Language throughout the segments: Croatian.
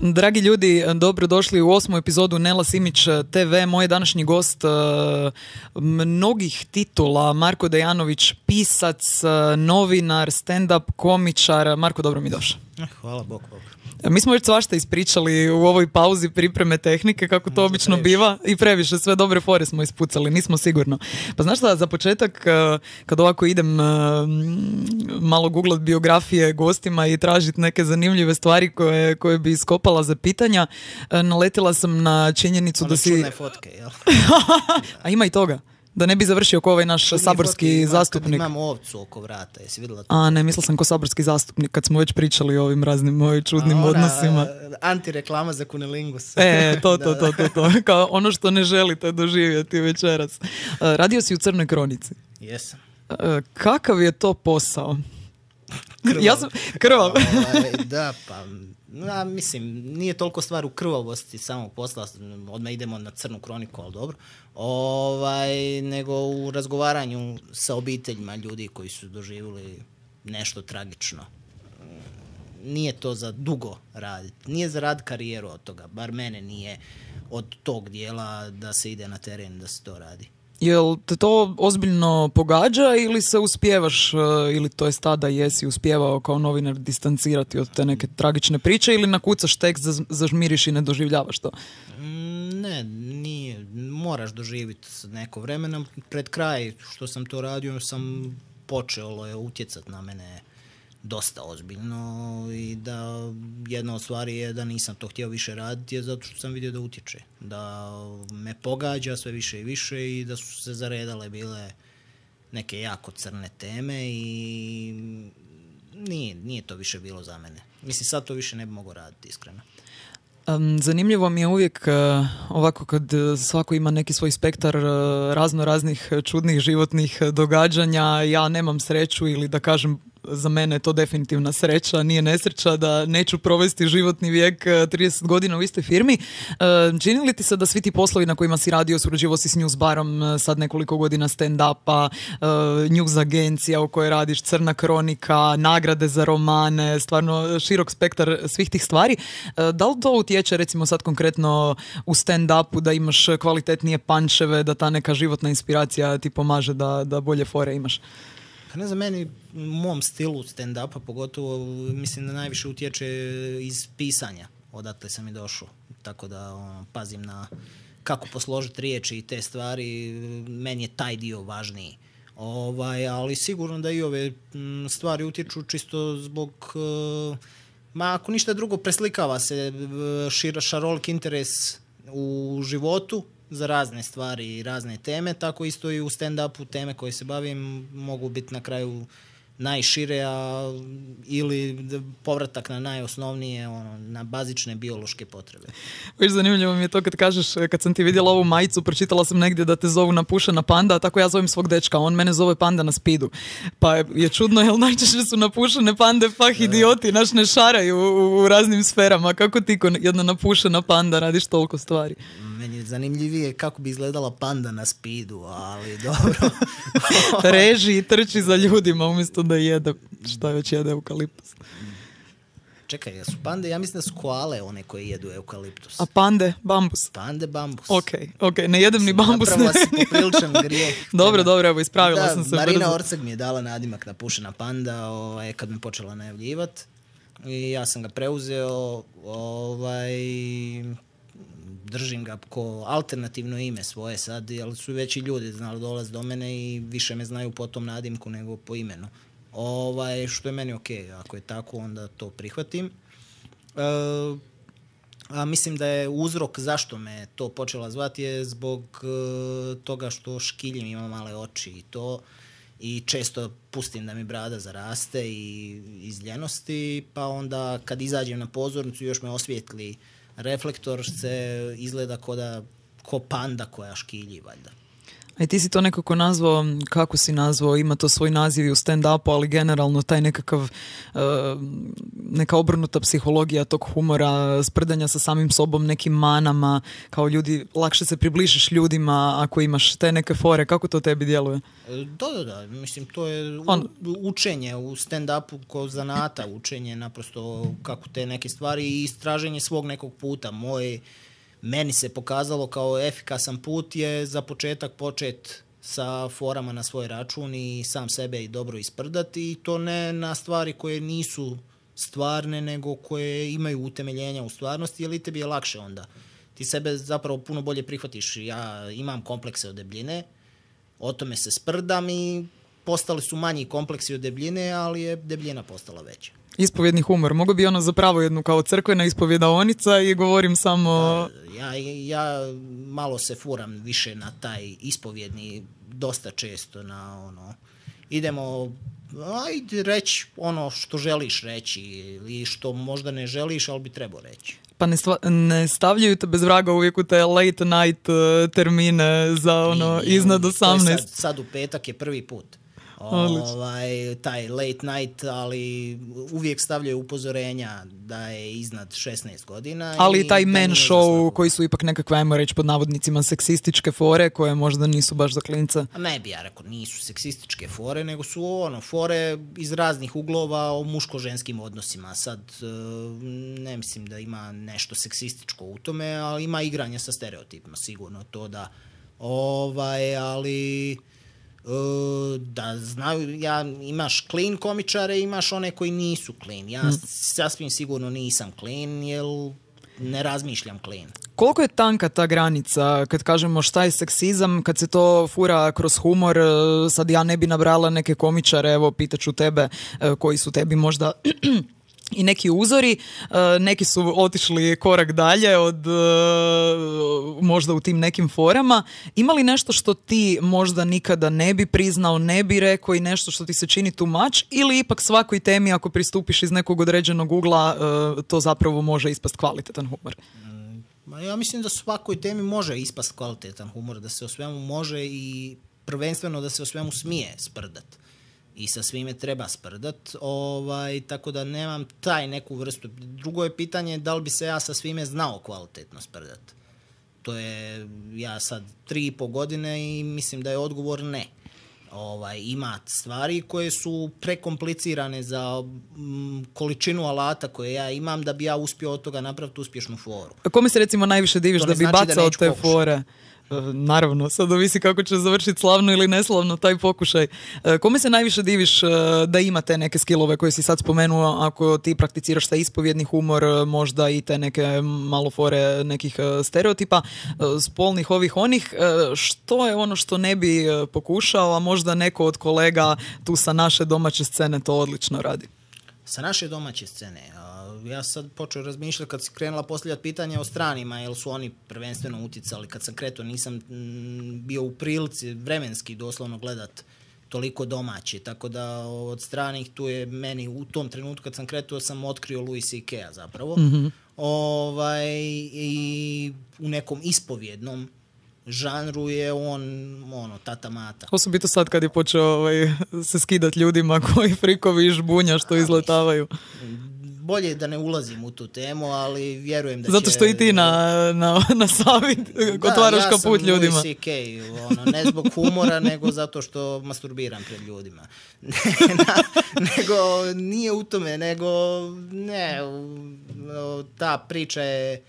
Dragi ljudi, dobrodošli u 8. epizodu Nela Simić TV. Moj današnji gost mnogih titula, Marko Dejanović, pisac, novinar, stand-up komičar. Marko, dobro mi došao. Hvala Bog. Mi smo već svašta ispričali u ovoj pauzi pripreme tehnike, kako to obično biva, i previše, sve dobre fore smo ispucali, nismo sigurno. Pa znaš šta, za početak, kad ovako idem malo googlat biografije gostima i tražiti neke zanimljive stvari koje bi iskopala za pitanja, naletila sam na činjenicu da si... Čudne fotke, jel? A ima i toga. Da ne bi završio ko ovaj naš saborski zastupnik. Imam ovcu oko vrata, jesi vidjela to? A ne, mislila sam ko saborski zastupnik, kad smo već pričali o ovim raznim čudnim odnosima. Antireklama za kunilingus. To. Kao ono što ne želite doživjeti večeras. Radio si u Crnoj kronici. Jesam. Kakav je to posao? Krvav. Ja sam krvav. Da, pa... mislim, nije toliko stvar u krvavosti samog posla, odmah idemo na Crnu kroniku, ali dobro, nego u razgovaranju sa obiteljima ljudi koji su doživjeli nešto tragično. Nije to za dugo raditi, nije za rad karijeru od toga, bar mene nije od tog dijela da se ide na teren da se to radi. Jel te to ozbiljno pogađa ili se uspijevaš, ili to je tada jesi uspijevao kao novinar distancirati od te neke tragične priče, ili nakucaš tekst, zažmiriš i ne doživljavaš to? Ne, nije. Moraš doživjeti neko vremena. Pred kraj što sam to radio sam počelo je utjecati na mene dosta ozbiljno i da jedna od stvari je da nisam to htio više raditi je zato što sam vidio da utječe, da me pogađa sve više i više i da su se zaredale bile neke jako crne teme i nije to više bilo za mene. Mislim, sad to više ne bi mogao raditi, iskreno. Zanimljivo mi je uvijek ovako kad svako ima neki svoj spektar razno raznih čudnih životnih događanja. Ja nemam sreću, ili da kažem, za mene je to definitivna sreća, nije nesreća da neću provesti životni vijek 30 godina u istoj firmi. Čini li ti se da svi ti poslovi na kojima si radio, surađivao si s Newsbarom, sad nekoliko godina stand-upa, news agencija u kojoj radiš, Crna kronika, nagrade za romane, stvarno širok spektar svih tih stvari. Da li to utječe recimo sad konkretno u stand-upu da imaš kvalitetnije pančeve, da ta neka životna inspiracija ti pomaže da bolje fore imaš? Pa ne znam, meni u mom stilu stand-upa pogotovo mislim da najviše utječe iz pisanja. Odatle sam i došao. Tako da pazim na kako posložiti riječi i te stvari. Meni je taj dio važniji. Ali sigurno da i ove stvari utječu čisto zbog... ako ništa drugo, preslikava se šarolik interes u životu za razne stvari i razne teme, tako isto i u stand-upu teme koje se bavim mogu biti na kraju najšire, ili povratak na najosnovnije, na bazične biološke potrebe. Viš, zanimljivo mi je to kad kažeš, kad sam ti vidjela ovu majicu, pročitala sam negdje da te zovu Napušena panda, a tako ja zovem svog dečka, on mene zove Panda na spidu. Pa je čudno, jer najčešće su napušene pande idioti, naš ne šaraju u raznim sferama. Kako ti ko jedna napušena panda radiš toliko stvari? Meni je zanimljivije kako bi izgledala panda na spidu, ali dobro. Reži i trči za ljudima umjesto da jede, šta već jede eukaliptus. Čekaj, su pande, ja mislim da su koale one koje jedu eukaliptus. A pande, bambus? Pande, bambus. Ok, ne jedem ni bambus. Napravila si popriličan grijeh. Dobro, evo, ispravila sam se. Marina brzo. Orceg mi je dala nadimak Napušena panda kad me počela najavljivat. I ja sam ga preuzeo, držim ga ko alternativno ime svoje sad, ali su već i ljudi znali dolaz do mene i više me znaju po tom nadimku nego po imenu. Što je meni okej, ako je tako onda to prihvatim. A mislim da je uzrok zašto me to počela zvati je zbog toga što škiljim, imam male oči i to, i često pustim da mi brada zaraste i iz ljenosti, pa onda kad izađem na pozornicu još me osvijetli reflektor, se izgleda ko panda koja škilji, valjda. A i ti si to nekako nazvao, kako si nazvao, ima to svoj naziv i u stand-upu, ali generalno taj nekakav, neka obrnuta psihologija tog humora, sprdanja sa samim sobom, nekim manama, kao ljudi, lakše se približiš ljudima ako imaš te neke fore. Kako to tebi djeluje? Da. Mislim, to je učenje u stand-upu ko zanata, učenje naprosto kako te neke stvari i istraženje svog nekog puta. Meni se pokazalo kao efikasan put je za početak počet sa forama na svoj račun i sam sebe i dobro isprdati i to ne na stvari koje nisu stvarne nego koje imaju utemeljenja u stvarnosti, jer i tebi je lakše onda. Ti sebe zapravo puno bolje prihvatiš. Ja imam komplekse od debljine, o tome se sprdam i postali su manji kompleksi od debljine, ali je debljina postala veća. Ispovjedni humor. Mogu bi ono zapravo jednu kao crkvena ispovjedaonica i govorim samo... Ja malo se furam više na taj ispovjedni dosta često na ono... Idemo reći ono što želiš reći ili što možda ne želiš, ali bi trebao reći. Pa ne stavljaju te bez vraga uvijek u te late night termine za ono iznad 18. Sad u petak je prvi put. Taj late night, ali uvijek stavljaju upozorenja da je iznad 16 godina. Ali i taj man show koji su ipak nekakve, ajmo reći pod navodnicima, seksističke fore koje možda nisu baš za klince. Ne bi ja rekao, nisu seksističke fore, nego su fore iz raznih uglova o muško-ženskim odnosima. Sad ne mislim da ima nešto seksističko u tome, ali ima igranja sa stereotipima, sigurno to da. Ali... da znaju, imaš clean komičare, imaš one koji nisu clean. Ja sasvim sigurno nisam clean, jer ne razmišljam clean. Koliko je tanka ta granica kad kažemo šta je seksizam, kad se to fura kroz humor? Sad ja ne bi nabrala neke komičare, evo pitaću tebe koji su tebi možda i neki uzori, neki su otišli korak dalje od možda u tim nekim forama. Ima li nešto što ti možda nikada ne bi priznao, ne bi rekao i nešto što ti se čini too much, ili ipak svakoj temi ako pristupiš iz nekog određenog ugla to zapravo može ispast kvalitetan humor? Ja mislim da svakoj temi može ispast kvalitetan humor, da se o svemu može i prvenstveno da se o svemu smije sprdat. I sa svime treba sprdat, tako da nemam taj neku vrstu. Drugo je pitanje da li bi se ja sa svime znao kvalitetno sprdat. To je, ja sad 3,5 godine i mislim da je odgovor ne. Ima stvari koje su prekomplicirane za količinu alata koje ja imam da bi ja uspio od toga napraviti uspješnu foru. A kome se recimo najviše diviš da bi bacao te fore? Naravno, sad ovisi kako će završiti slavno ili neslavno taj pokušaj. Kome se najviše diviš da imate neke skillove koje si sad spomenuo, ako ti prakticiraš taj ispovjedni humor, možda i te neke malo fore nekih stereotipa, spolnih ovih onih, što je ono što ne bi pokušao, a možda neko od kolega tu sa naše domaće scene to odlično radi? Sa naše domaće scene, ja sad počeo razmišljati kad si krenula postavljati pitanja o stranima, jer su oni prvenstveno utjecali. Kad sam kretao nisam bio u prilici vremenski doslovno gledat toliko domaće, tako da od stranih tu je meni u tom trenutku kad sam kretao sam otkrio Louis C.K.-a zapravo. Mm-hmm. I u nekom ispovjednom žanru je on tata mata. Osobito sad kad je počeo se skidat ljudima koji frikovi i žbunja što izletavaju. Bolje da ne ulazim u tu temu, ali vjerujem da će... Zato što i ti na savjet otvaraš kaput ljudima. Da, ja sam Louis C.K. Ne zbog humora, nego zato što masturbiram pred ljudima. Nego nije u tome, nego ta priča je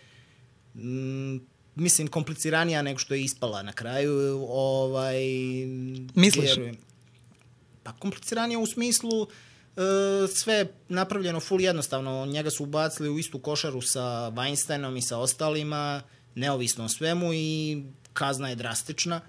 mislim kompliciranija nego što je ispala na kraju. Misliš? Vjerujem. Pa kompliciranija u smislu sve napravljeno full jednostavno. Njega su ubacili u istu košaru sa Weinsteinom i sa ostalima, neovisno o svemu, i kazna je drastična.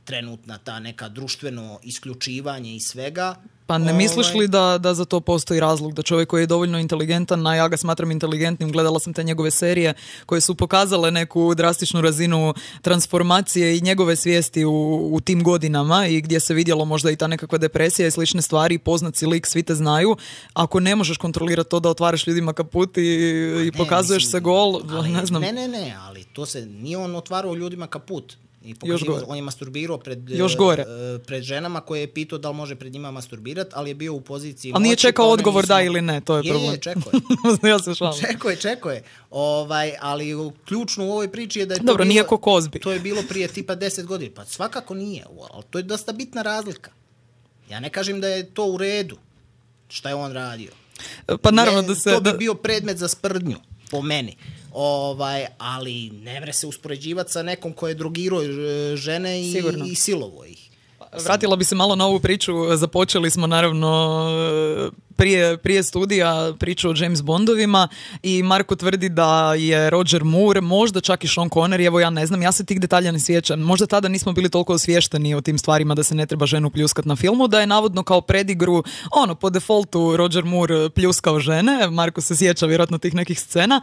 Trenutna ta neka društveno isključivanje i svega. Pa ne misliš li da za to postoji razlog, da čovjek koji je dovoljno inteligentan, a ja ga smatram inteligentnim, gledala sam te njegove serije koje su pokazale neku drastičnu razinu transformacije i njegove svijesti u tim godinama i gdje se vidjelo možda i ta nekakva depresija i slične stvari, poznat si lik, svi te znaju. Ako ne možeš kontrolirati to da otvaraš ljudima kaput i pokazuješ se gol, ne znam. Ne, ali to se nije on otvarao ljudima kaput. I Još gore. on je masturbirao pred ženama koje je pitao da li može pred njima masturbirati, ali je bio u poziciji... Ali nije čekao odgovor da ili ne, to je problem. Čekao je. Ja se šalim. Čekao je. Ali ključno u ovoj priči je da je Dobro, nije ko Kozbi. To je bilo prije tipa 10 godina. Pa svakako nije, ali to je dosta bitna razlika. Ja ne kažem da je to u redu šta je on radio. Pa naravno da se... To bi bio predmet za sprdnju, po meni. Ali ne mre se uspoređivati sa nekom ko je drogirao žene i silovo ih. Vratila bi se malo na ovu priču. Započeli smo naravno prije studija priču o James Bondovima i Marko tvrdi da je Roger Moore, možda čak i Sean Connery, evo ja ne znam, ja se tih detalja ne sjećam. Možda tada nismo bili toliko osviješteni o tim stvarima da se ne treba ženu pljuskat na filmu, da je navodno kao predigru, po defaultu Roger Moore pljuskao žene. Marko se sjeća vjerojatno tih nekih scena.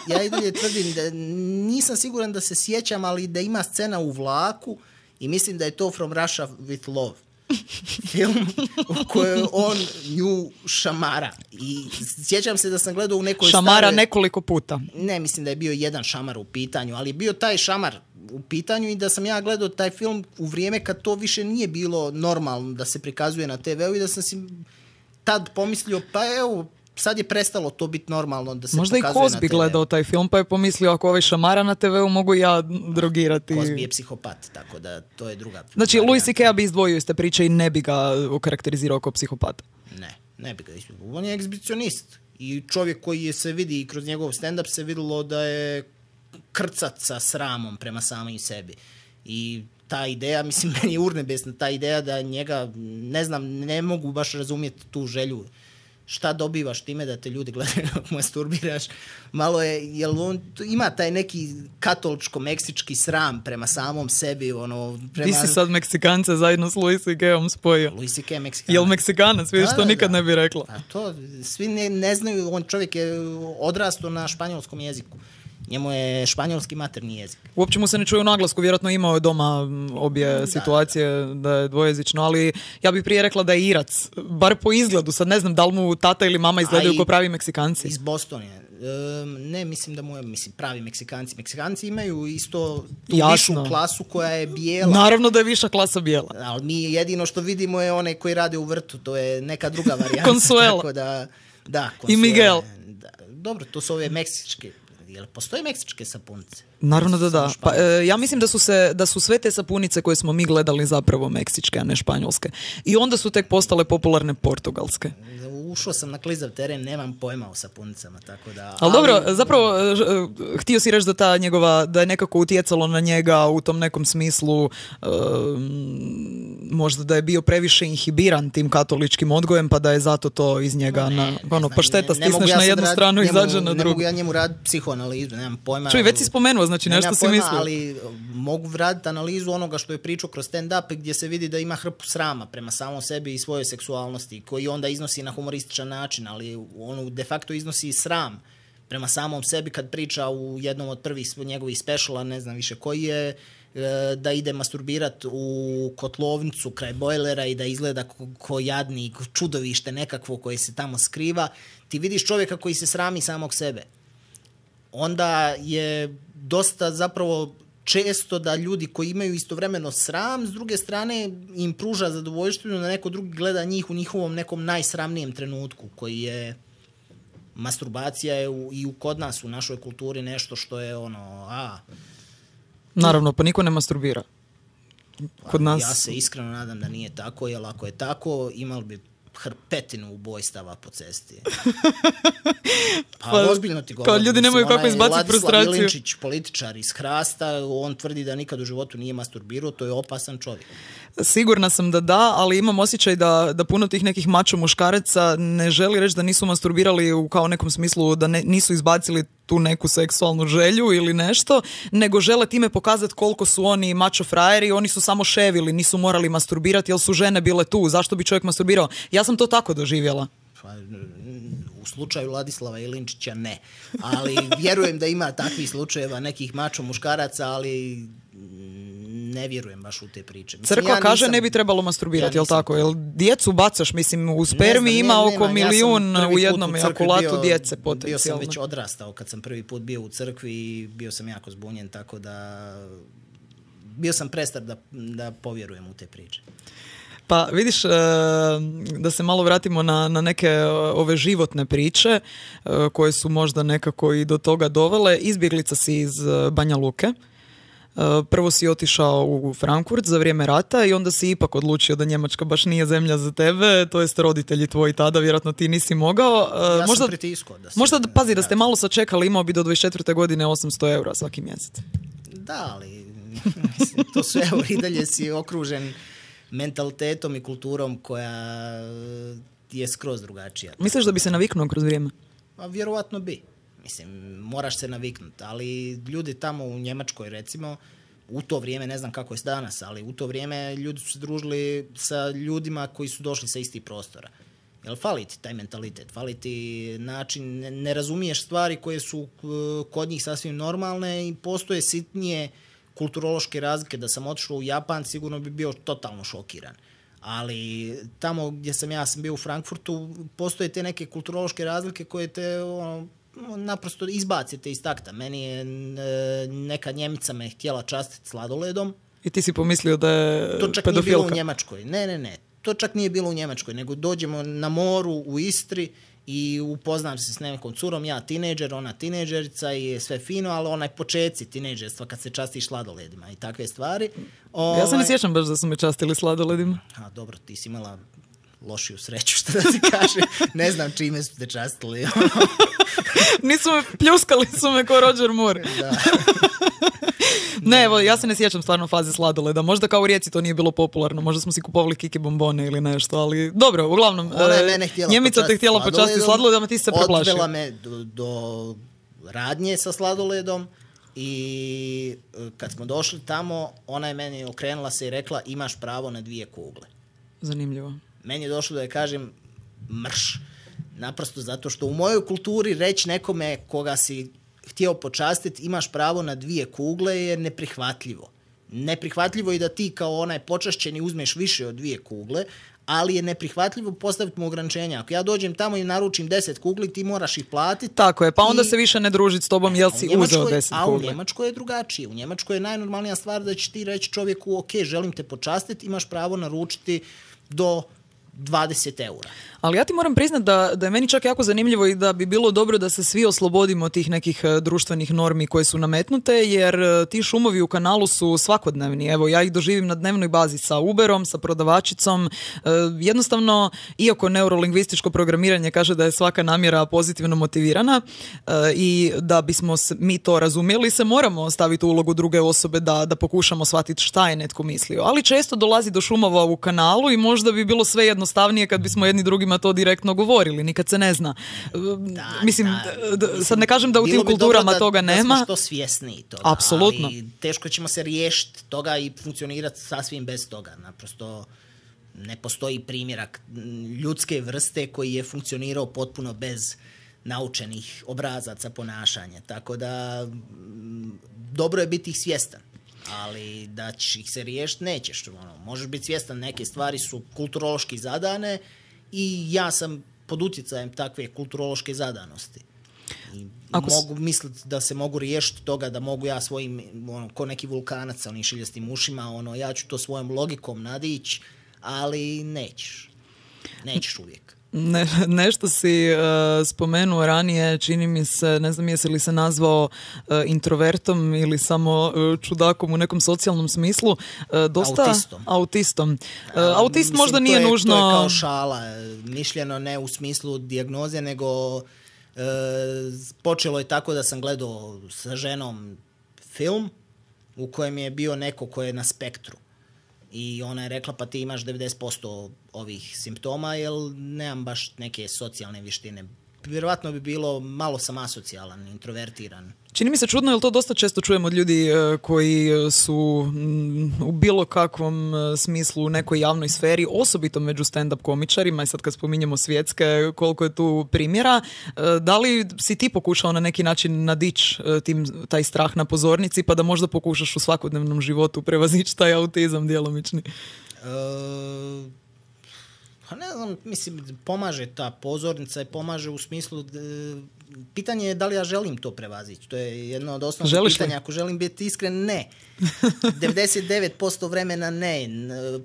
Ja i dalje tvrdim da nisam siguran da se sjećam, ali da ima scena u vlaku i mislim da je to From Russia with Love. Film u kojoj on nju šamara. I sjećam se da sam gledao u nekoj šamara nekoliko puta. Ne, mislim da je bio jedan šamar u pitanju, ali je bio taj šamar u pitanju i da sam ja gledao taj film u vrijeme kad to više nije bilo normalno da se prikazuje na TV-u i da sam si tad pomislio, pa evo, sad je prestalo to biti normalno da se možda pokazuje na TV-u. Možda i Kozbi gledao taj film pa je pomislio ako ovaj šamara na TV-u mogu ja drogirati. Kozbi je psihopat, tako da to je druga. Znači Louis C.K. bi izdvojio iz te priče i ne bi ga okarakterizirao kao psihopata. Ne bi ga izdvojio. On je egzibicionist i čovjek koji je se vidi i kroz njegov stand-up se vidjelo da je krcat sa sramom prema samim sebi. I ta ideja, mislim, meni je urnebesna, ta ideja da njega, ne znam, ne mogu baš razumjeti tu želju. Šta dobivaš time da te ljudi gledaju dok masturbiraš? Malo je, jel on ima taj neki katoličko-meksički sram prema samom sebi, Ti si sad Meksikance zajedno s Louis C.K.om spojio. Louis C.K. Meksikanac. Jel Meksikanac? Vidiš, to nikad ne bi rekla. A to, svi ne znaju, on čovjek je odrastao na španjolskom jeziku. Njemu je španjolski materni jezik. Uopće mu se ne čuje u naglasku, vjerojatno imao je doma obje situacije da je dvojezično, ali ja bih prije rekla da je Irac, bar po izgledu, sad ne znam da li mu tata ili mama izgledaju kao pravi Meksikanci. Iz Bostona je. Ne, mislim da mu je pravi Meksikanci. Meksikanci imaju isto tu višu klasu koja je bijela. Naravno da je viša klasa bijela. Ali mi jedino što vidimo je one koji rade u vrtu, to je neka druga varijanta. Consuelo. Tako da, Consuelo. I Miguel. Dobro, to su ove meksičke. Jel postoje meksičke sapunice? Naravno da. Pa, ja mislim da su sve te sapunice koje smo mi gledali zapravo meksičke, a ne španjolske. I onda su tek postale popularne portugalske. Ušao sam na klizav teren, nemam pojma o sapunicama, tako da... Ali dobro, zapravo, htio si reći da je nekako utjecalo na njega u tom nekom smislu, možda da je bio previše inhibiran tim katoličkim odgojem, pa da je zato to iz njega pašteta stisneš na jednu stranu i izađe na drugu. Ne mogu ja njemu raditi psihoanalizu, nemam pojma. Čuj, već si spomenuo, znači nešto si mislio. Ali mogu raditi analizu onoga što je pričao kroz stand-up gdje se vidi da ima hrpu srama prema samom sebi i svojoj seksualnosti, koji onda iznosi na humorističan način, ali on de facto iznosi sram prema samom sebi kad priča u jednom od prvih njegovih speciala, ne znam više koji je, da ide masturbirat u kotlovnicu kraj bojlera i da izgleda ko jadni, čudovište nekakvo koje se tamo skriva. Ti vidiš čovjeka koji se srami samog sebe. Onda je dosta zapravo često da ljudi koji imaju istovremeno sram, s druge strane im pruža zadovoljštinu da neko drugi gleda njih u njihovom nekom najsramnijem trenutku, koji je masturbacija je i kod nas u našoj kulturi nešto što je Naravno, pa niko ne masturbira. Kod nas... Ja se iskreno nadam da nije tako, jer ako je tako, imali bi hrpetinu ubojstava po cesti. Pa ozbiljno ti govorim. Kao ljudi nemaju kako izbaciti frustraciju. Ladislav Ilinčić, političar iz Hrasta, on tvrdi da nikad u životu nije masturbirao, to je opasan čovjek. Sigurna sam da, ali imam osjećaj da puno tih nekih mačo muškaraca ne želi reći da nisu masturbirali u kao nekom smislu, da nisu izbacili tu neku seksualnu želju ili nešto, nego žele time pokazati koliko su oni mačo frajeri, oni su samo ševili, nisu morali masturbirati jer su žene bile tu, zašto bi čovjek masturbirao? Ja sam to tako doživjela. U slučaju Ladislava Ilinčića ne, ali vjerujem da ima takvih slučajeva nekih mačo muškaraca, ali ne vjerujem baš u te priče. Crkva kaže ne bi trebalo masturbirati, jel tako? Jel djecu bacaš, mislim, u spermi ima oko milijun u jednom ejakulatu djece potencijalno. Bio sam već odrastao kad sam prvi put bio u crkvi i bio sam jako zbunjen, tako da bio sam prestar da povjerujem u te priče. Pa vidiš, da se malo vratimo na neke ove životne priče koje su možda nekako i do toga dovele. Izbjeglica si iz Banja Luke. Prvo si otišao u Frankfurt za vrijeme rata i onda si ipak odlučio da Njemačka baš nije zemlja za tebe, to jest roditelji tvoji tada, vjerojatno ti nisi mogao. Ja možda, sam pritiskao. Pazi, da ste malo sačekali, imao bi do 24. godine 800 eura svaki mjesec. Da, ali to su i dalje si okružen mentalitetom i kulturom koja je skroz drugačija. Misliš da bi se naviknuo kroz vrijeme? A vjerovatno bi. Mislim, moraš se naviknuti, ali ljudi tamo u Njemačkoj, recimo, u to vrijeme, ne znam kako je danas, ali u to vrijeme ljudi su se družili sa ljudima koji su došli sa istih prostora. Jel fali ti taj mentalitet, fali ti način, ne razumiješ stvari koje su kod njih sasvim normalne i postoje sitnije kulturološke razlike. Da sam otišao u Japan, sigurno bi bio totalno šokiran. Ali tamo gdje sam bio u Frankfurtu, postoje te neke kulturološke razlike koje te naprosto izbacite iz takta. Meni je neka Njemica me htjela častiti sladoledom. I ti si pomislio da je pedofilka? To čak nije bilo u Njemačkoj. Ne. To čak nije bilo u Njemačkoj, nego dođemo na moru u Istri i upoznam se s nekom curom, ja tinejdžer, ona tinejdžerica i sve fino, ali onaj početci tinejdžerstva kad se častiš sladoledima i takve stvari. Ja se ne sjećam baš da su me častili sladoledima. A dobro, ti si imala lošiju sreću, što da ti kažem. Ne znam čime su te častili. Nisu me pljuskali, su me ko Roger Moore. Da. Ne, evo, ja se ne sjećam stvarno faze sladoleda. Možda kao u Rijeci to nije bilo popularno. Možda smo si kupovali kiki bombone ili nešto, ali dobro, uglavnom, Njemica te htjela počastiti sladoledom, a ti se preplašio. Odvela me do radnje sa sladoledom i kad smo došli tamo, ona je meni okrenula se i rekla imaš pravo na 2 kugle. Zanimljivo. Meni je došlo da je kažem mrš. Naprosto zato što u mojoj kulturi reći nekome koga si htio počastiti imaš pravo na 2 kugle je neprihvatljivo. Neprihvatljivo je da ti kao onaj počašćeni uzmeš više od 2 kugle, ali je neprihvatljivo postaviti mu ograničenja. Ako ja dođem tamo i naručim 10 kugli, ti moraš ih platiti. Tako je, pa onda se više ne družiti s tobom jel si uzeo 10 kugle. A u Njemačkoj je drugačije. U Njemačkoj je najnormalnija stvar da ćeš ti reći čovjeku ok, želim te počastiti, imaš pravo naručiti do 20 eura. Ali ja ti moram priznati da je meni čak jako zanimljivo i da bi bilo dobro da se svi oslobodimo tih nekih društvenih normi koje su nametnute, jer ti šumovi u kanalu su svakodnevni. Evo, ja ih doživim na dnevnoj bazi sa Uberom, sa prodavačicom. Jednostavno, iako neurolingvističko programiranje kaže da je svaka namjera pozitivno motivirana i da bismo mi to razumjeli, se moramo staviti u ulogu druge osobe da pokušamo shvatiti šta je netko mislio. Ali često dolazi do šumova u kanalu i možda bi bilo sve jednostavnije kad bismo jedni drugima to direktno govorili, nikad se ne zna. Mislim, sad ne kažem da u tim kulturama toga nema. Da smo što svjesniji toga. Apsolutno. Ali teško ćemo se riješiti toga i funkcionirati sasvim bez toga. Naprosto ne postoji primjerak ljudske vrste koji je funkcionirao potpuno bez naučenih obrazaca ponašanja. Tako da dobro je biti ih svjestan. Ali da ćeš ih se riješiti, nećeš. Možeš biti svjestan, neke stvari su kulturološki zadane i ja sam pod utjecajem takve kulturološke zadanosti. I mogu misliti da se mogu riješiti toga, da mogu ja svojim, ko neki vulkanac sa onim šiljastim ušima, ja ću to svojom logikom nadići, ali nećeš. Nećeš uvijek. Nešto si spomenuo ranije, čini mi se, ne znam jesi li se nazvao introvertom ili samo čudakom u nekom socijalnom smislu. Autistom. Autist možda nije nužno... To je kao šala, mišljeno ne u smislu dijagnoze, nego počelo je tako da sam gledao sa ženom film u kojem je bio neko ko je na spektru. I ona je rekla, pa ti imaš 90% ovih simptoma, jer nemam baš neke socijalne vještine. Vjerovatno bi bilo, malo sam asocijalan, introvertiran. Čini mi se čudno, jer to dosta često čujem od ljudi koji su u bilo kakvom smislu u nekoj javnoj sferi, osobito među stand-up komičarima, i sad kad spominjemo svjetske, koliko je tu primjera. Da li si ti pokušao na neki način nadići taj strah na pozornici, pa da možda pokušaš u svakodnevnom životu prevazići taj autizam djelomični? Ne znam, mislim, pomaže ta pozornica i pomaže u smislu pitanje je da li ja želim to prevazići. To je jedno od osnovnih Želiš pitanja. li? Ako želim biti iskren, ne. 99% vremena ne.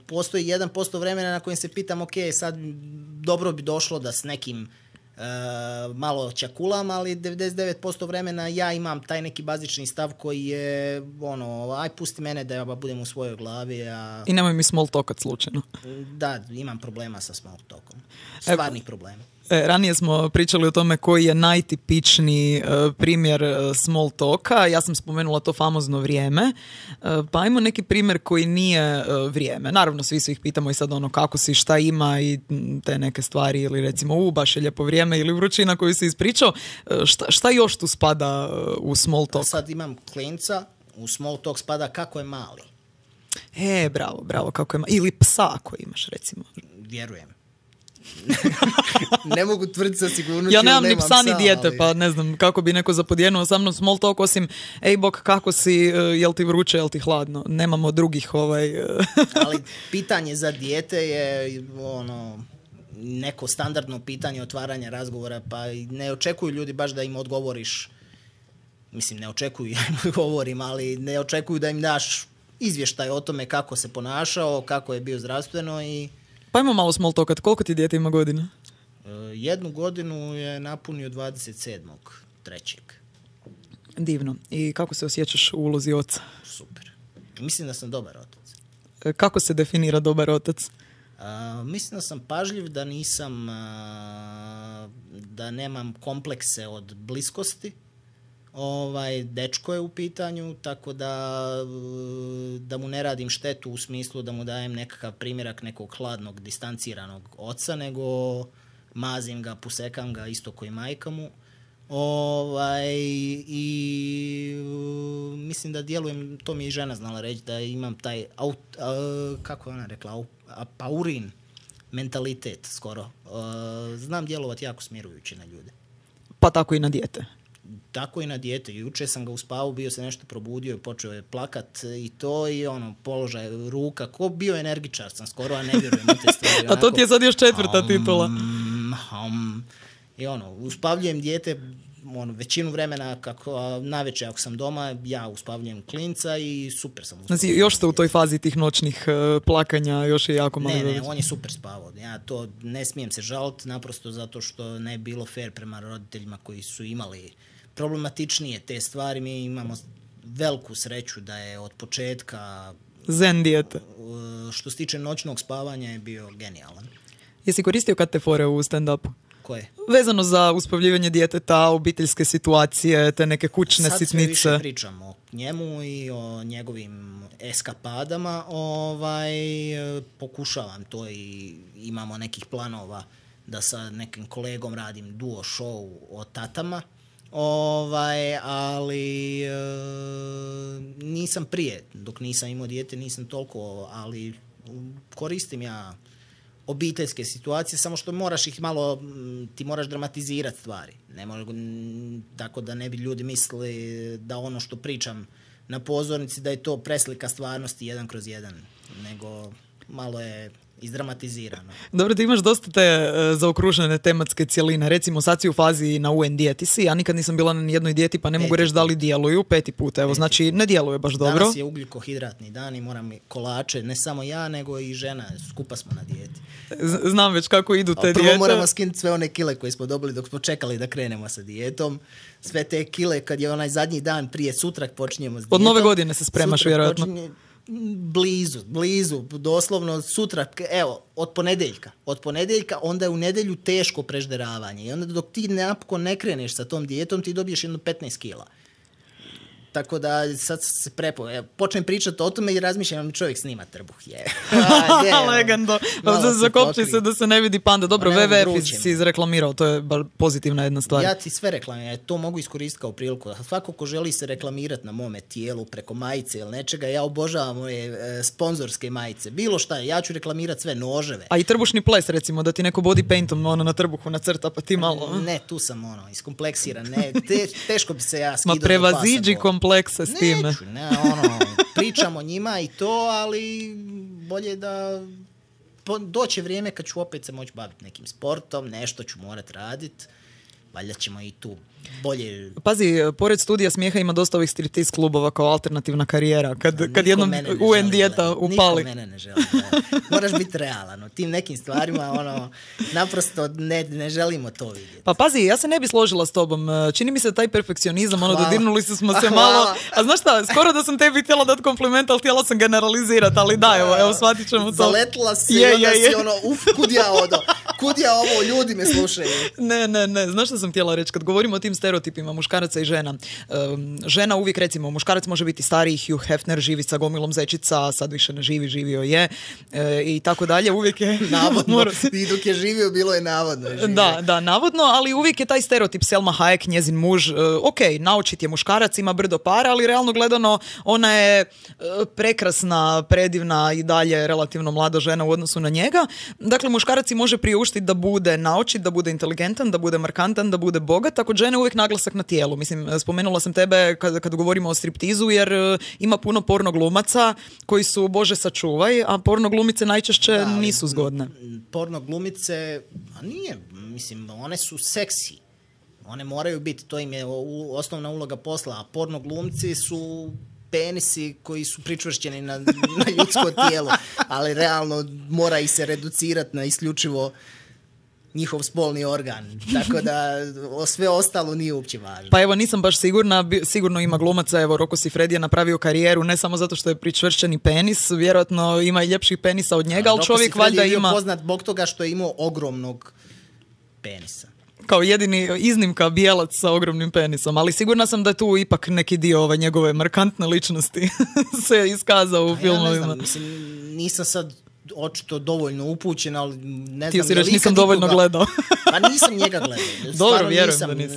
Postoji 1% vremena na kojem se pitam, ok, sad dobro bi došlo da s nekim malo čakulam, ali 99% vremena ja imam taj neki bazični stav koji je aj pusti mene da ja budem u svojoj glavi. I nemoj mi small talkat slučajno. Da, imam problema sa small talkom. Stvarnih problema. Ranije smo pričali o tome koji je najtipičniji primjer small talka. Ja sam spomenula to famozno vrijeme. Pa ajmo neki primjer koji nije vrijeme. Naravno, svi ih pitamo i sad kako si, šta ima i te neke stvari, ili recimo baš je lijepo vrijeme ili vrućina koju si ispričao. Šta još tu spada u small talk? Sad imam klinca, u small talk spada kako je mali. Bravo, kako je mali. Ili psa ako imaš, recimo. Vjerujem. Ne mogu tvrditi sa sigurnošću. Ja nemam ni psa ni dijete, ali... pa ne znam kako bi neko zapodjenuo sa mnom small talk, osim ej bok, kako si, jel ti vruće, jel ti hladno. Nemamo drugih Ali pitanje za dijete je neko standardno pitanje otvaranja razgovora, pa ne očekuju ljudi baš da im odgovoriš. Mislim, ne očekuju ja im odgovorim, ali ne očekuju da im daš izvještaj o tome kako se ponašao, kako je bio zdravstveno i... Pa imamo malo small talkat. Koliko ti dijete ima godina? 1 godinu je napunio 27.3. Divno. I kako se osjećaš u ulozi oca? Super. Mislim da sam dobar otac. Kako se definira dobar otac? Mislim da sam pažljiv, da nisam, da nemam komplekse od bliskosti. Dečko je u pitanju, tako da mu ne radim štetu u smislu da mu dajem nekakav primjerak nekog hladnog, distanciranog oca, nego mazim ga, pusekam ga isto koji majka mu. I mislim da djelujem, to mi je i žena znala reći, da imam taj, kako je ona rekla, paurin mentalitet skoro. Znam djelovati jako smirujući na ljude. Pa tako i na dijete. Tako i na dijete. Juče sam ga uspavao, bio se nešto probudio i počeo je plakat i to i položaj ruka. Ko bio energičar sam skoro, a ne vjerujem u te stvari. A to ti je sad još 4. titula. I uspavljujem dijete većinu vremena, navečer ako sam doma, ja uspavljujem klinca i super sam uspavljam. Znači, još ste u toj fazi tih noćnih plakanja, još je jako malo. Ne, on je super spavao. Ja to ne smijem se žaliti, naprosto zato što ne bilo fair prema roditeljima koji su imali problematičnije te stvari. Mi imamo veliku sreću da je od početka zen dijete. Što se tiče noćnog spavanja je bio genijalan. Jesi koristio kad te fore u stand-upu? Koje? Vezano za uspavljivanje djeteta, obiteljske situacije, te neke kućne sitnice. Sad sve više pričam o njemu i o njegovim eskapadama. Pokušavam to i imamo nekih planova da sa nekim kolegom radim duo show o tatama. Ali nisam prije, dok nisam imao dijete, nisam toliko, ali koristim ja obiteljske situacije, samo što moraš ih malo, ti moraš dramatizirati stvari. Tako da ne bi ljudi mislili da ono što pričam na pozornici da je to preslika stvarnosti 1/1, nego malo je izdramatizirano. Dobro, ti imaš dosta te zaokružene tematske cjeline. Recimo, sad si u fazi na UN dijeti si. Ja nikad nisam bila na nijednoj dijeti, pa ne mogu reći da li djeluju. 5. put, evo, znači ne djeluje baš dobro. Danas je ugljikohidratni dan i moram kolače, ne samo ja, nego i žena. Skupa smo na dijeti. Znam već kako idu te dijete. Prvo moramo skinuti sve one kile koje smo dobili dok smo čekali da krenemo sa dijetom. Sve te kile, kad je onaj zadnji dan prije, sutra počinjemo s dijetom. Od nove godine se spremaš, sutra vjerojatno. Blizu, doslovno sutra, evo, od ponedjeljka, onda je u nedjelju teško prežderavanje i onda dok ti napokon ne kreneš sa tom dijetom, ti dobiješ jedno 15 kila. Tako da sad se počnem pričati o tome i razmišljam, čovjek snima trbuh. Legendo. Zakopči se da se ne vidi panda. Dobro, WWF si izreklamirao, to je pozitivna jedna stvar. Ja ti sve reklamiram, to mogu iskoristiti kao priliku. Svako ko želi se reklamirati na mome tijelu preko majice ili nečega, ja obožavam moje sponzorske majice. Bilo šta, ja ću reklamirati sve, noževe. A i trbušni ples, recimo, da ti neko body paintom na trbuhu nacrta, pa ti malo... Ne, tu sam iskompleksiran. Teško bi se ja skidao do pasa. Prevaziđi komplekse s time. Neću, pričam o njima i to, ali bolje da doće vrijeme kad ću opet se moći baviti nekim sportom, nešto ću morat raditi. valjda ćemo i tu bolje... Pazi, pored studija smijeha ima dosta ovih striptease klubova kao alternativna karijera. Kad jednom UN dijeta upali. Niko mene ne želi. Moraš biti realan. U tim nekim stvarima naprosto ne želimo to vidjeti. Pa pazi, ja se ne bi složila s tobom. Čini mi se taj perfekcionizam, dodirnuli smo se malo. A znaš šta, skoro da sam tebi htjela dati kompliment, ali htjela sam generalizirati, ali da, evo, shvatit ćemo to. Zaletila si i onda si kud ja ovo, ljudi me slušaju. Ne, znaš što sam htjela reći? Kad govorimo o tim stereotipima muškaraca i žena, žena uvijek, recimo, muškarac može biti stariji, Hugh Hefner, živi sa gomilom zečica, sad više ne živi, živio je, i tako dalje, uvijek je... Navodno, i dok je živio, bilo je navodno. Da, navodno, ali uvijek je taj stereotip Selma Hayek, njezin muž, ok, naučit je muškarac, ima brdo para, ali realno gledano, ona je prekrasna, predivna i dalje relativno mlada žena u odnosu na njega. Dakle, muškarac si može priuštiti da bude naučit, da bude inteligentan, da bude markantan, da bude bogat, tako žene uvijek naglasak na tijelu. Mislim, spomenula sam tebe kad govorimo o striptizu, jer ima puno porno glumaca koji su, Bože sačuvaj, a porno glumice najčešće nisu zgodne. Porno glumice, one su seksi. One moraju biti, to im je osnovna uloga posla, a porno glumci su penisi koji su pričvršćeni na ljudsko tijelo, ali realno mora ih se reducirati na isključivo njihov spolni organ, tako da sve ostalo nije uopće važno. Pa evo, nisam baš sigurna, sigurno ima glumaca, evo, Rocco Siffredi je napravio karijeru ne samo zato što je pričvršćeni penis, vjerojatno ima i ljepših penisa od njega, ali čovjek valjda ima... Rocco Siffredi je bio poznat zbog toga što je imao ogromnog penisa. Kao jedini iznimka bijelac sa ogromnim penisom, ali sigurna sam da je tu ipak neki dio njegove markantne ličnosti se iskazao u filmovima. Ja ne znam, nisam sad očito dovoljno upućen, ali ne Ti znam... si reći, nisam dovoljno gledao. Pa nisam njega gledao. Dobro, vjerujem da nisam.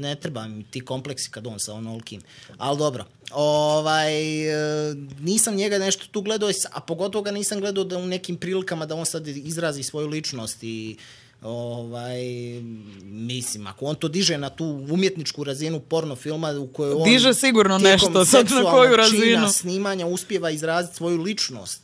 Ne treba mi ti kompleksi kad on sa onolikim. Ali dobro. Nisam njega nešto tu gledao, a pogotovo ga nisam gledao da u nekim prilikama da on sad izrazi svoju ličnost i mislim, ako on to diže na tu umjetničku razinu porno filma u kojoj on diže sigurno nešto, sad na koju razinu snimanja uspijeva izraziti svoju ličnost.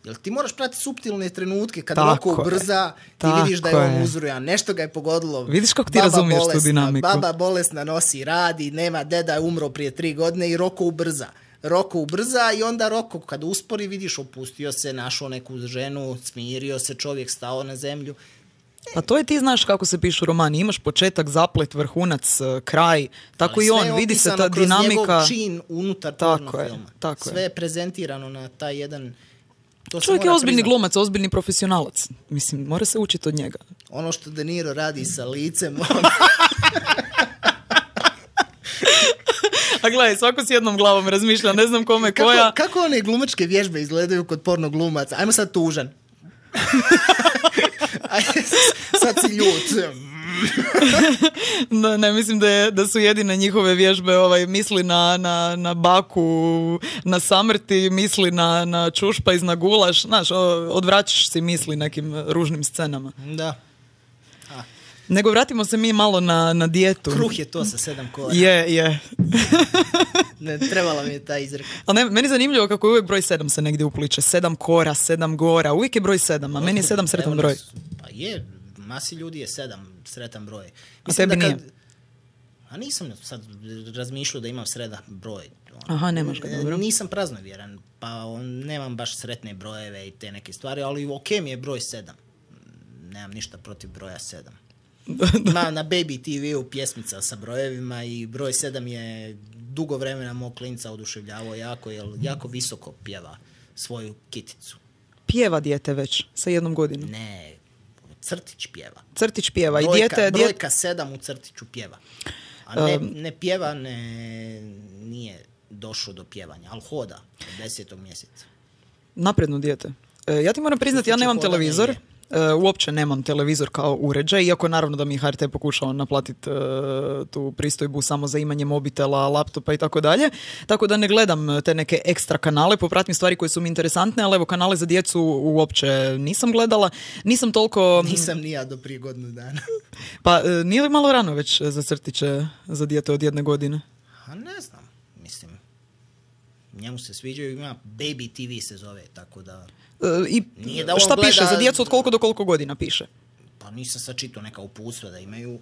Jel ti moraš pratiti suptilne trenutke kad Rocco ubrza, ti vidiš da je on uzrujan, nešto ga je pogodilo. Vidiš kako ti razumiješ tu dinamiku. Baba bolesna nosi, radi, nema, deda je umro prije 3 godine i Rocco ubrza i onda Rocco kad uspori vidiš opustio se, našao neku ženu, smirio se, čovjek stao na zemlju. Pa to je, ti znaš kako se pišu romani, imaš početak, zaplet, vrhunac, kraj, tako i on, vidi se ta dinamika. Sve je opisano kroz njegov čin unutar porno filma. Sve je prezentirano na taj jedan... Čovjek je ozbiljni glumac, ozbiljni profesionalac. Mislim, mora se učiti od njega. Ono što De Niro radi sa licem... A gledaj, svako s jednom glavom razmišlja, ne znam kome koja... Kako one glumačke vježbe izgledaju kod porno glumaca? Ajmo sad tužan. Sad si ljut. Ne, mislim da su jedine njihove vježbe misli na baku, na samrti, misli na čušpajz, na gulaš, znaš, odvraćaš si misli nekim ružnim scenama. Da. Nego vratimo se mi malo na dijetu. Kruh je to sa 7 kora. Je. Ne, trebala mi je ta izreka. Ali meni je zanimljivo kako je uvijek broj 7 se negdje upliče. 7 kora, 7 gora, uvijek je broj 7, a meni je 7 sretan broj. Pa je, masi ljudi je 7 sretan broj. A tebi nije? A nisam sad razmišljao da imam sretan broj. Aha, nemaš ga, dobro. Nisam praznovjeran, pa nemam baš sretne brojeve i te neke stvari, ali ok mi je broj 7. Nemam ništa protiv broja 7. Ima na Baby TV-u pjesmica sa brojevima i broj 7 je dugo vremena mog klinca oduševljavao jako, jer jako visoko pjeva svoju kiticu. Pjeva dijete već sa 1 godinom? Ne, crtić pjeva. Crtić pjeva. Brojka 7 u crtiću pjeva. A ne pjeva, nije došao do pjevanja, ali hoda od 10. mjeseca. Napredno dijete. Ja ti moram priznati, ja nemam televizor. Uopće nemam televizor kao uređaj, iako naravno da mi HRT pokušao naplatiti tu pristojbu samo za imanje mobitela, laptopa i tako dalje. Tako da ne gledam te neke ekstra kanale, popratim stvari koje su mi interesantne, ali evo, kanale za djecu uopće nisam gledala. Nisam toliko... Nisam ni ja do prije godinu dana. Pa nije li malo rano već za crtiće za dijete od 1 godine? A ne znam, mislim. Njemu se sviđaju, ima Baby TV se zove, tako da... I šta gleda... piše? Za djecu od koliko do koliko godina piše? Pa nisam sad čitao neka uputstva da imaju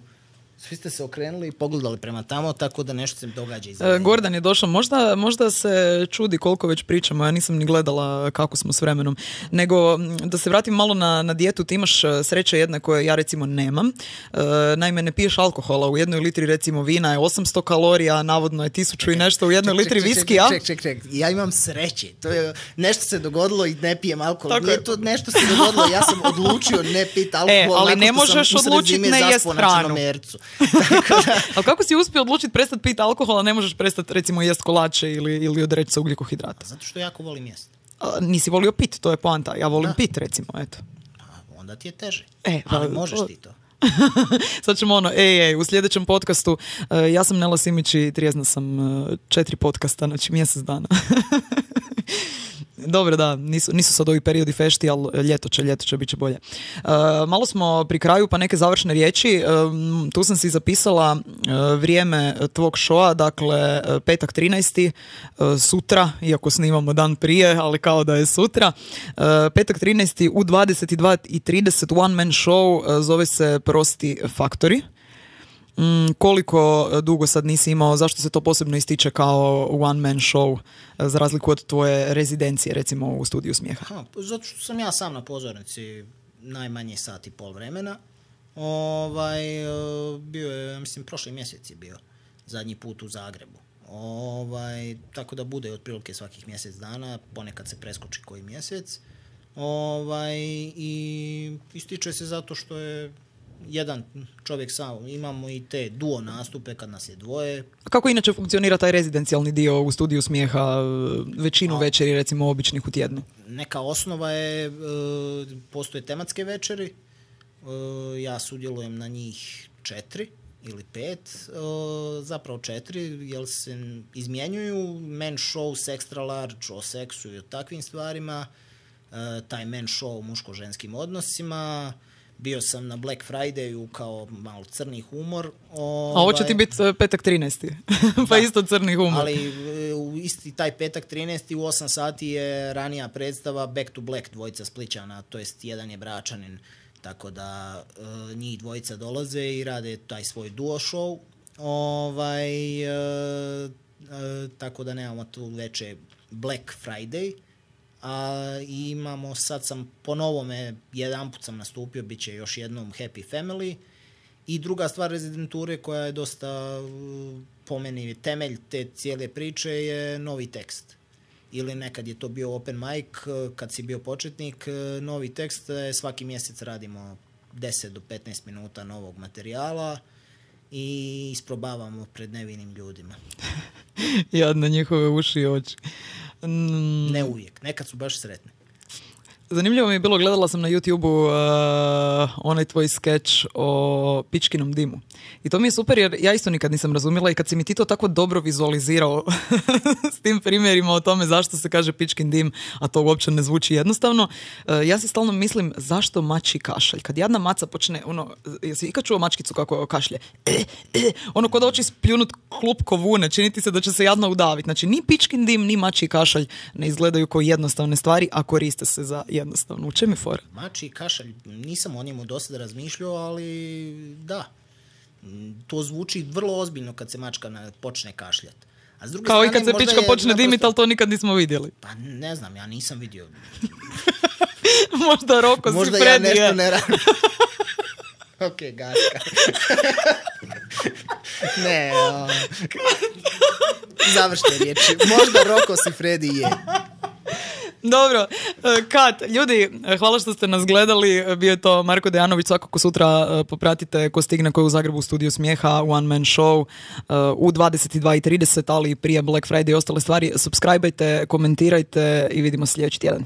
Svi ste se okrenuli i pogledali prema tamo, tako da nešto se događa iz Gordan je došao, možda se čudi koliko već pričamo, ja nisam ni gledala kako smo s vremenom, nego da se vratim malo na dijetu, ti imaš sreće jedne koje ja recimo nemam, naime ne piješ alkohola, u jednoj litri recimo vina je 800 kalorija, navodno je 1000 i nešto u jednoj litri viskija. Ček, ja imam sreće, to je, nešto se dogodilo i ne pijem alkohol, nije to nešto se dogodilo, ja sam odlučio ne piti alkohol, ali ne možeš odlučiti ne jest hranu. Ali kako si uspio odlučiti prestati piti alkohola, ne možeš prestati recimo jest kolače ili odreći se ugljikohidrata? Zato što jako volim jesti. Nisi volio pit, to je poanta. Ja volim pit recimo, eto. Onda ti je teže. Ali možeš ti to. Sad ćemo u sljedećem podcastu, ja sam Nela Simić i trijezna sam 4 podcasta, znači mjesec dana. Dobro, da, nisu sad ovi periodi fešti, ali ljeto će bit će bolje. Malo smo pri kraju, pa neke završne riječi. Tu sam si zapisala vrijeme tvog showa, dakle petak 13. Sutra, iako snimamo dan prije, ali kao da je sutra. Petak 13. u 22:30 one man show, zove se Prosti faktori. Koliko dugo sad nisi imao, zašto se to posebno ističe kao one man show za razliku od tvoje rezidencije recimo u studiju smijeha? Zato što sam ja sam na pozornici najmanje sat i pol vremena. Bio je, mislim, prošli mjesec je bio zadnji put u Zagrebu. Tako da bude otprilike svakih mjesec dana, ponekad se preskoči koji mjesec. I ističe se zato što je jedan čovjek sam, imamo i te duo nastupe kad nas je dvoje. Kako inače funkcionira taj rezidencijalni dio u studiju smijeha, većinu večeri recimo običnih u tjednu? Neka osnova je, postoje tematske večeri, ja sudjelujem na njih 4 ili 5, zapravo 4, jer se izmjenjuju men show, extra large, o seksu i o takvim stvarima, taj men show o muško-ženskim odnosima. Bio sam na Black Fridayu kao malo crni humor. A ovo će ti biti petak 13. Pa isto crni humor. Ali isti taj petak 13. u 8 sati je ranija predstava Back to Black, dvojica Splićana, to jest jedan je Bračanin. Tako da njih dvojica dolaze i rade taj svoj duo show. Tako da nemamo tu veće Black Friday. Imamo, sad sam po novome, jedan put sam nastupio, bit će još jednom Happy Family. I druga stvar rezidenture koja je dosta, po meni, temelj te cijele priče je novi tekst. Ili nekad je to bio open mic, kad si bio početnik, novi tekst, svaki mjesec radimo 10 do 15 minuta novog materijala i isprobavamo pred nevinim ljudima. Jadne njihove uši i oči. Ne uvijek, nekad su baš sretne. Zanimljivo mi je bilo, gledala sam na YouTube-u onaj tvoj skeč o pičkinom dimu. I to mi je super jer ja isto nikad nisam razumjela i kad si mi ti to tako dobro vizualizirao s tim primjerima o tome zašto se kaže pičkin dim, a to uopće ne zvuči jednostavno, ja si stalno mislim zašto mači kašalj. Kad jedna maca počne, jesi ikad čuo mačkicu kako kašlje? Ko da hoće spljunut klupko vune, čini ti se da će se jadno udaviti. Znači, ni pičkin dim, ni mači kašalj ne izgledaju kao jednostavne stvari, a koriste se za jednostavno. U čem je fora? Mači kašalj, nisam o njemu dosta razmišljao, ali da. To zvuči vrlo ozbiljno kad se mačka počne kašljati. A s druge kao strane, i kad se pička počne dimiti, ali to nikad nismo vidjeli. Pa ne znam, ja nisam vidio. Možda Roko si možda Freddy. Ja nešto ne radim. Ok, gaska. Ne, završne riječi. Možda Roko si Freddy je. Dobro, Kat, ljudi, hvala što ste nas gledali, bio je to Marko Dejanović, svakako sutra popratite ko stigne, ko je u Zagrebu u studiju smijeha, one man show u 22:30, ali prije Black Friday i ostale stvari, subscribeajte, komentirajte i vidimo sljedeći tjedan.